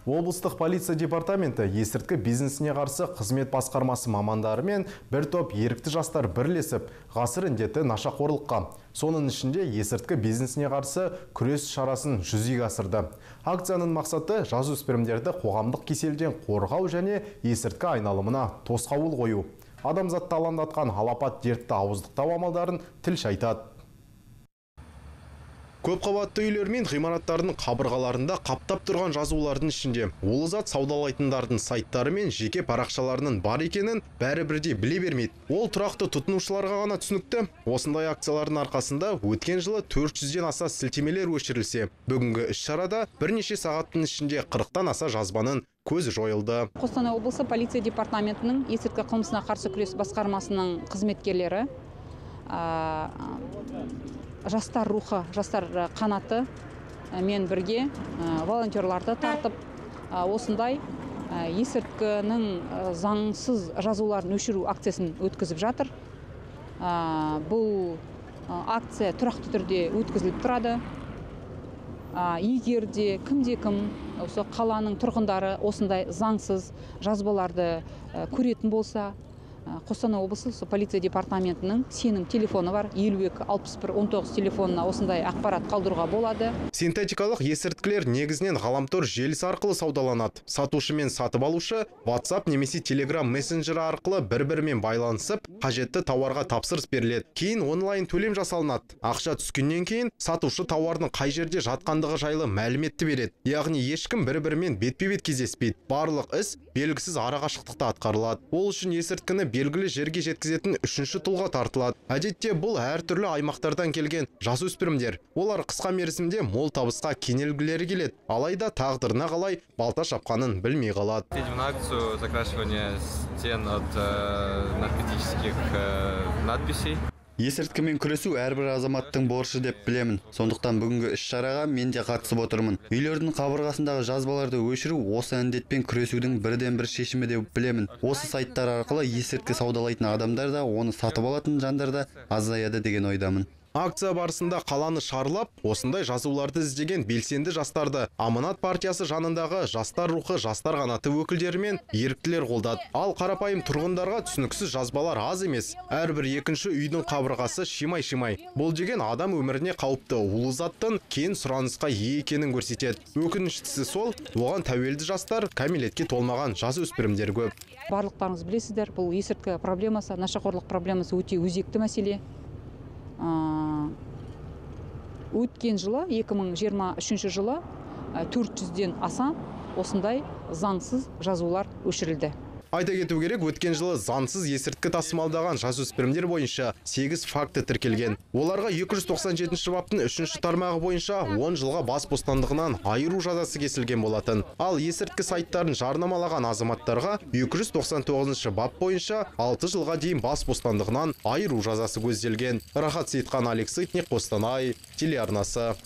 Облыстық полиция департаменті есірткі бизнесіне қарсы қызмет басқармасы мамандары мен бір топ ерікті жастар бірлесіп ғасыр індеті нашақорлыққа, соның ішінде есірткі бизнесіне қарсы күрес шарасын жүзеге асырды. Акцияның мақсаты жасөспірімдерді қоғамдық кеселден қорғау және есірткі айналымына тосқауыл қою. Адамзатты алаңдатқан алапат дертті ауыздықтау амалдарын тілші айтады. Көпқабатты үйлер мен ғимараттардың қабырғаларында қаптап тұрған жазулардың ішінде улы зат саудалайтындардың сайттары мен жеке парақшаларының бар екенін бәрі бірдей біле бермейді. Ол тұрақты тұтынушыларға ғана түсінікті. Осындай акциялардың арқасында өткен жылы 400-ден аса сілтемелер өшірілсе, бүгінгі іс-шарада бірнеше сағаттың ішінде 40-тан аса жазбаның көзі жойылды. Қостанай облысы полиция департаментінің есірткі қылмысына қарсы күрес басқармасының қызметкерлері жастар рухы, жастар қанаты мен бірге волонтерларды тартып, осындай есірткінің заңсыз жазуларын өшіру акциясын өткізіп жатыр. Бұл акция тұрақты түрде өткізіліп тұрады. Егер де кім осы қаланың тұрғындары осындай заңсыз жазбаларды көретін болса, Қостанай облысы полиция департаментінің сенім телефоны бар, 52-61-19 телефонына осындай ақпарат қалдыруға болады. Синтетикалық есірткілер негізінен ғаламтор желісі арқылы саудаланады. Сатушы мен сатып алушы WhatsApp немесе Telegram мессенджері арқылы бір-бірімен байланысып, қажетті тауарға тапсырыс беріледі. Кейін онлайн төлем жасалынады. Ақша түскеннен кейін сатушы тауардың қай жерде жатқандығы жайлы мәліметті береді. Яғни ешкім бір-бірімен бетпе-бет кездеспейді. Барлық іс белгісіз арақашықтықта атқарылады. Ол үшін есірткіні белгілі жерге жеткізетін үшінші тұлға тартылады. Әдетте бұл әртүрлі аймақтардан келген жасөспірімдер. Олар қысқа мерзімде мол табысқа кенелгілері келеді. Алайда тағдырына қалай балта шапқанын білмей қалады. Едем на акцию закрашивания стен от наркотических надписей. Есірткімен күресу әрбір азаматтың борышы деп білемін. Сондықтан бүгінгі іс-шараға мен де қатысып отырмын. Үйлердің қабырғасындағы жазбаларды өшіру осы індетпен күресудің бірден бір шешімі деп білемін. Осы сайттар арқылы есірткі саудалайтын адамдар да, оны сатып алатын жандар да азаяды деген ойдамын. Акция барысында қаланы шарлап, осындай жазуларды іздеген белсенді жастарды Аманат партиясы жанындағы жастар рухы, жастар қанаты өкілдері мен еріктілер қолдады. Ал қарапайым тұрғындарға түсініксіз жазбалар аз емес. Әрбір екінші үйдің қабырғасы шимай-шимай. Бұл деген адам өміріне қауіпті улы заттың кен сұранысқа ие екенін көрсетеді. Өкініштісі сол, оған тәуелді жастар, кәмелетке толмаған жасөспірімдер көп. Барлықтарыңыз білесіздер, бұл есірткі проблемасы, нашақорлық проблемасы өте өзекті мәселе. Өткен жылы, 2023 жылы 400-ден аса осындай заңсыз жазулар өшірілді. Айта кету керек, өткен жылы заңсыз есірткі тасымалдаған жасөспірімдер бойынша 8 факті тіркелген. Оларға 297 баптың 3-ші тармағы бойынша 10 жылға бас бостандығынан айыру жазасы кесілген болатын. Ал есірткі сайттарын жарнамалаған азаматтарға 299 бап бойынша 6 жылға дейін бас бостандығынан айыру жазасы көзделген. Рахат Сейтхан, Алексей Қостанай телеарнасы.